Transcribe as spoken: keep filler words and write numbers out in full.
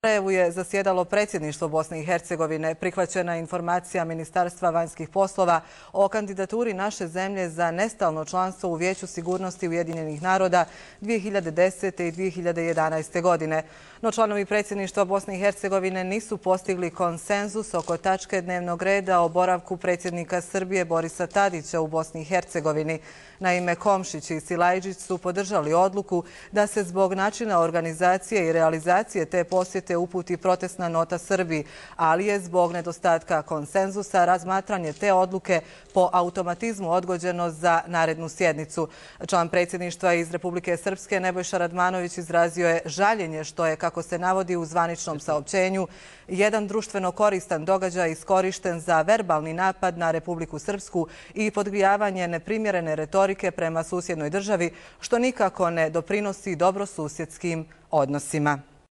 U Sarajevu je zasjedalo predsjedništvo Bosne i Hercegovine. Prihvaćena informacija Ministarstva vanjskih poslova o kandidaturi naše zemlje za nestalno članstvo u Vijeću sigurnosti Ujedinjenih naroda dvije hiljade desete i dvije hiljade jedanaeste. godine. No članovi predsjedništva Bosne i Hercegovine nisu postigli konsenzus oko tačke dnevnog reda o boravku predsjednika Srbije Borisa Tadića u Bosni i Hercegovini. Naime, Komšić i Silajđić su podržali odluku da se zbog načina organizacije i realizacije te posjete uputi protestna nota Srbiji, ali je zbog nedostatka konsenzusa razmatranje te odluke po automatizmu odgođeno za narednu sjednicu. Član predsjedništva iz Republike Srpske Nebojša Radmanović izrazio je žaljenje što je, kako se navodi u zvaničnom saopćenju, jedan društveno koristan događaj iskorišten za verbalni napad na Republiku Srpsku i podgrijavanje neprimjerene retorike prema susjednoj državi, što nikako ne doprinosi dobrosusjedskim odnosima.